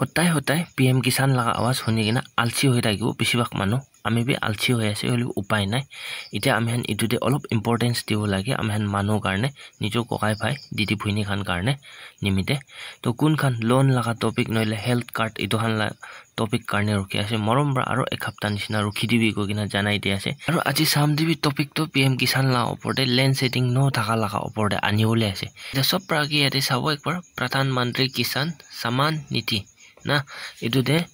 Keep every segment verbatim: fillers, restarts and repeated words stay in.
Hotai hotai P M Kisan laga awaz huni kena alsi hoi thakibo besibhag manu. Ami bi alsi hoi ase, hoilebi upai nai. Itya ami khan etu te olop importance dibo lage, ami khan manu karne, nijo kokai bhai, didi bhuini khan karne nimite. To kun khan loan laga topic nohoile health card etu khan la topic karne rukhi ase, morom para aro ek hapta nishina rukhi dibi koi kena janai di ase. Aro aji sam te bi topic to P M Kisan la opor te, land shedding no thaka laga opor te ani bole ase. Etu sob para age yate sabo ekbar, Pradhan Mantri Kisan Samman Nidhi na, etu te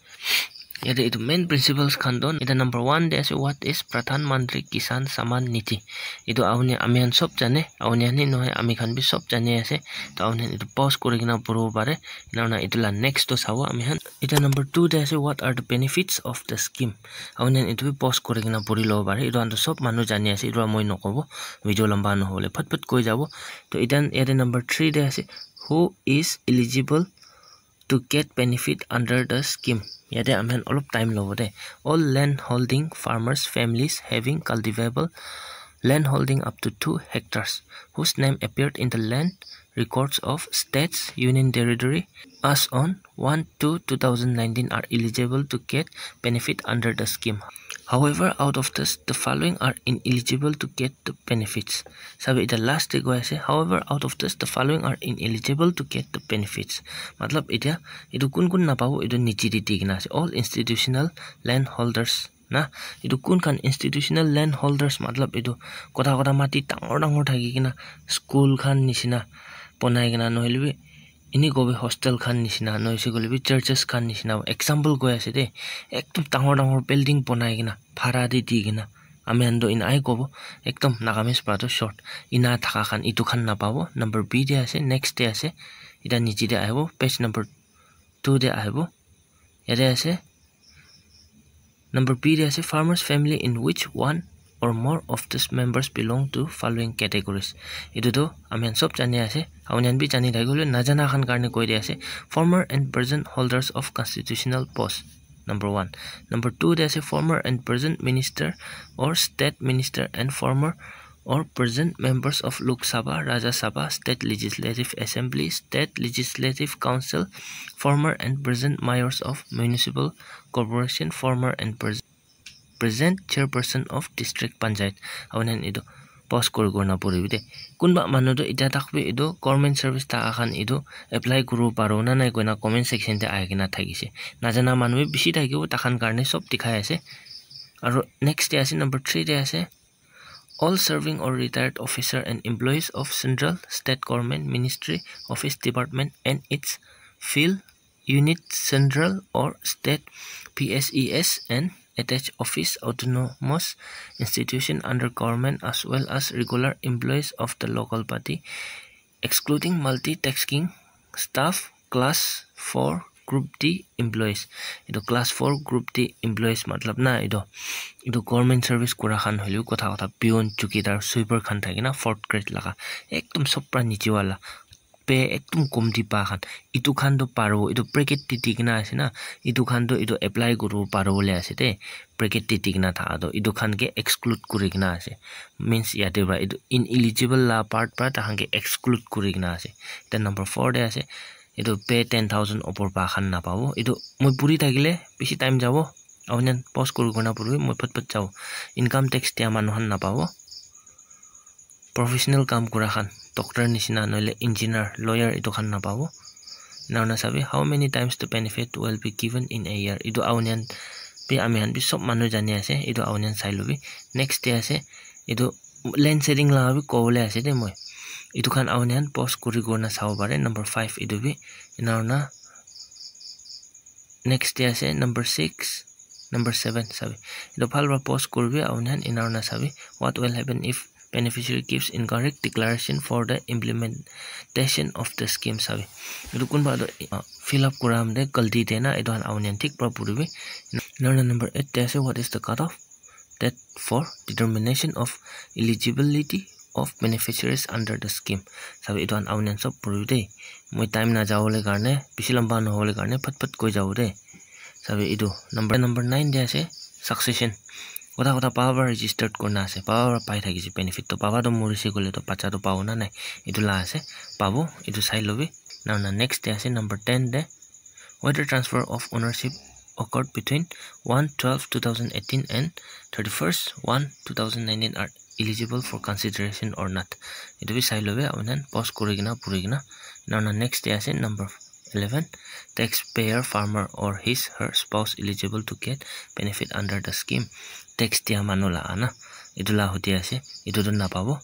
yate etu main principles khan to, eta number one te ase, what is Pradhan Mantri Kisan Samman Nidhi? Etu auni ami khan sob jane, auni khan he nohoi, ami khan bi sob jane ase. To auni khan etu pause kuri kena puribo pare. Ena hoina etu la next to sabo ami khan. Eta number two te ase, what are the benefits of the scheme? Auni khan etu bi pause kuri kena puri lobo pare. Etu khan to sob manu jani ase, etu la moi nokobo, video lamba nohole phat phat koi jabo. To eta yate number three te ase, who is eligible to get benefit under the scheme? Yate ami khan olop time lobo de. All land holding farmers, families having cultivable land holding up to two hectares whose name appeared in the land records of states, union territory as on one two two thousand nineteen are eligible to get benefit under the scheme. However, out of this, the following are ineligible to get the benefits. Sabi, eta last te koi ase, however, out of this, the following are ineligible to get the benefits. Matlab, eta etu kun kun napabo, etu niche te di kena ase, all institutional land holders na. Etu kun khan institutional land holders, matlab etu kotha kotha mati dangor dangor thaki kena school khan nishina bonai kena, nohoile bi eni kobi hostel khan nishina, nohoise koile bi churches khan nishina, example koi ase de, ekdom dangor dangor building bonai kena, bhara te di kena, ami khan to ena ai kobo, ekdom Nagamese para to short, ena thaka khan etu khan napabo. Number B te ase, next te ase, eta niche te ahibo, page number two te ahibo, yate ase, number B te ase, farmers family in which one or more of these members belong to following categories. Etu to ami khan sob jani ase, auni khan bi jani thaki bole, najana khan karne koi di ase, former and present holders of constitutional post. Number one. Number two te ase, former and present minister or state minister and former or present members of Lok Sabha, Rajya Sabha, State Legislative Assembly, State Legislative Council, former and present mayors of municipal corporation, former and pres- present chairperson of district panchayat. Auni khan etu pause kuri kuri na puribi de. Kunba manu to eta tak bi etu government service thaka khan etu apply kuribo paribo na nai koina comment section te ahi kena thakise. Najana manu bi bishi thakibo, takhan karne sob dikhai ase. Aro next te ase, number three te ase, all serving or retired officer and employees of central, state government, ministry, office, department and its field unit, central or state P S E S and attached office, autonomous institution under government, as well as regular employees of the local body, excluding multitasking staff, class four group D employees. Etu class four group D employees matlab na, etu, etu government service kura khan hoilebi kotha kotha peon, chowkidar, sweeper khan thaki na fourth grade laga, ekdom sob para niche wala, pay ekdom komti pa khan, etu khan to paribo, etu bracket te di kena ase na, etu khan to etu apply kuribo paribo le ase de, bracket te di kena thaka to, etu khan ke exclude kuri kena ase, means yate para etu ineligible la part para takhan ke exclude kuri kena ase. Then number four te ase, etu pay ten thousand opor pa khan napabo. Etu moi puri thakile bishi time jabo, auni khan pause kuri kuri na puribi, moi phat phat jabo. Income tax dia manu khan napabo. Professional kam kura khan, doctor nishina, nohoile engineer, lawyer, etu khan napabo. Ena hoina sabi, how many times the benefit will be given in a year? Etu auni khan bi, ami khan bi sob manu jani ase, etu auni khan sai lobi. Next te ase, etu land sharing laga bi kobole ase de moi. Etu khan auni khan pause kuri kuri na sabo pare, number five etu bi. Ena hoina next te ase, number six, number seven sabi. Etu bhal para pause kuribi, auni khan ena hoina sabi. What will happen if beneficiary gives incorrect declaration for the implementation of the scheme sabi. Etu kunba to, uh, fill up kura time te galti de na, etu khan auni khan thik para puribi. Ena hoina number eight te ase, what is the cutoff date for determination of eligibility of beneficiaries under the scheme. Sabi, etu khan auni khan sob puribi de. Moi time na jabole karne, bishi lamba nohole karne, phat phat koi jabo de. Sabi, etu number, number nine te ase, succession. Kotha kotha baba para registered kurina ase, baba para pai thakise benefit to, baba to morise koile to bacha to pabo na nai, etu la ase, pabo, etu sai lobi. Ena hoina next te ase, number ten te, Whether transfer of ownership occurred between one twelve two thousand eighteen and thirty-first one two thousand nineteen are eligible for consideration or not. Etu bi sai lobe, apuni khan pause kuri kena, puri kena. Now, now next te ase number eleven, taxpayer, farmer or his her spouse eligible to get benefit under the scheme. Tax dia manu la ana, etu la hoti ase, etu tu napabo.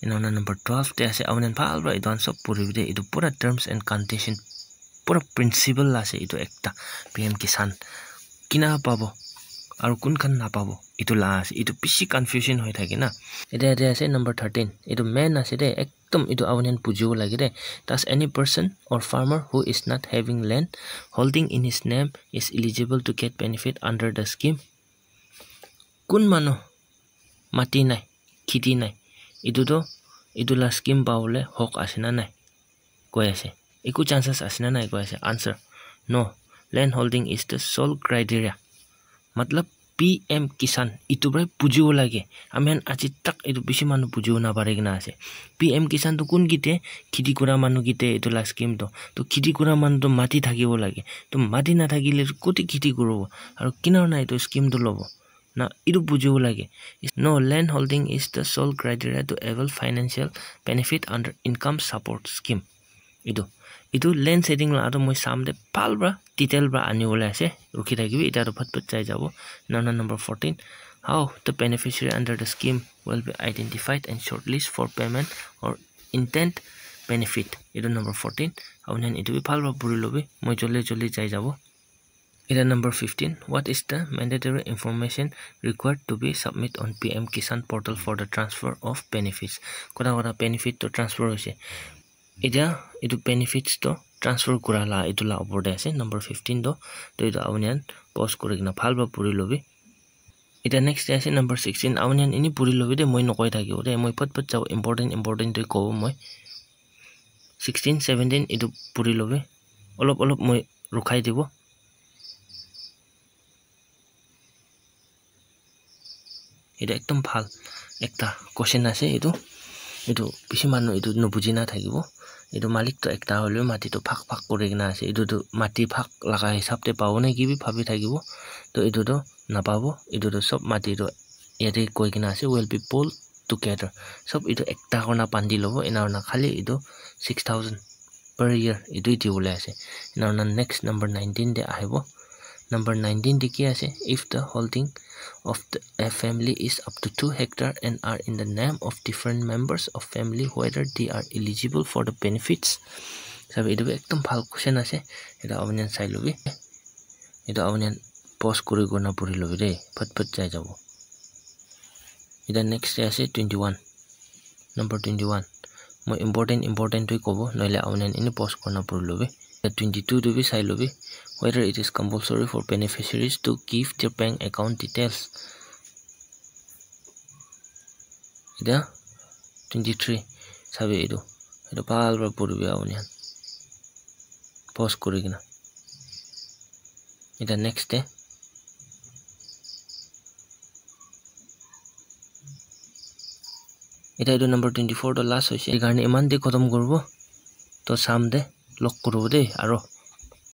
Ena hoina number twelve te ase, apuni khan bhal para etu khan sob puri bole, etu pura terms and condition, pura principle la ase etu ekta P M Kisan. Kina pabo aru kun khan napabo, etu la ase, etu bishi confusion hoi thake na. Etia, etia ase number thirteen, etu main ase de, ekdom etu apuni khan bujibo lage de. Does any person or farmer who is not having land holding in his name is eligible to get benefit under the scheme? Kun manu mati nai, kheti nai, etu tu, etu la scheme pabole hok ase na nai? Koi ase. Eku chances ase na nai? Koi ase. Answer, no. Land holding is the sole criteria. Matlab, P M Kisan, etu para bujibo lage. Ami khan aji tak etu bishi manu bujibo napari kena ase. P M Kisan tu kun kite, kheti kura manu kite etu la scheme tu. To kheti kura manu tu mati thakibo lage. To mati nathakile koti kheti kuribo? Aru kina hoina etu scheme tu lobo? Na, etu bujibo lage. No, land holding is the sole criteria to avail financial benefit under income support scheme. Etu, etu land setting la tu moi sam te bhal para detail para ani bole ase. Rukhi thakibi, etia tu phat phat jai jabo. Now, now number fourteen, how the beneficiary under the scheme will be identified and shortlist for payment or intended benefit. Etu number fourteen. Apuni khan etu bi bhal para puri lobi. Moi joldi joldi jai jabo. Etia number fifteen, what is the mandatory information required to be submit on P M Kisan portal for the transfer of benefits? Kota kota benefit to transfer hoise. Etia etu benefits to transfer kura la etu la opor te ase, number fifteen to. To etu apuni khan pause kuri kena bhal para puri lobi. Etia next te ase number sixteen, apuni khan eni puri lobi de, moi nokoi thakibo de, moi phat phat jabo, important important to kobo moi. Sixteen, seventeen etu puri lobi, olop olop moi rukhai dibo. Etu ekdom bhal ekta question ase etu. Etu bishi manu etu nubuji na thakibo. Etu malik to ekta hoilebi mati to bhag bhag kuri kena ase. Etu tu mati bhag laga hisab te pabo na ki bi bhabi thakibo. To etu to napabo. Etu tu sob mati tu yate koi kena ase, will be pooled together. Sob etu ekta kurna bandi lobo, ena kurna khali etu six thousand per year etu dibole ase. Ena kurna next number nineteen te ahibo. Number nineteen te ki ase? If the holding of the, a family is up to two hectare and are in the name of different members of family, whether they are eligible for the benefits. Sabi, etu bi ekdom bhal question ase. Etu apuni khan sai lobi. Etu apuni khan pause kuri kuri na puri lobi de. Phat phat jai jabo. Etu next te ase twenty-one. Number twenty-one. Moi important important to kobo, nohole apuni khan eni pause kuri na puri lobi. Etu twenty-two tu bi sai lobi. Whether it is compulsory for beneficiaries to give their bank account details. Etia twenty-three sabi etu. Etu bhal para puribi apuni khan. Pause kuri kena. Etia next te. Etia etu number twenty-four to last hoise. Etu karne iman te khotom kuribo. To sam te log kuribo de. Aro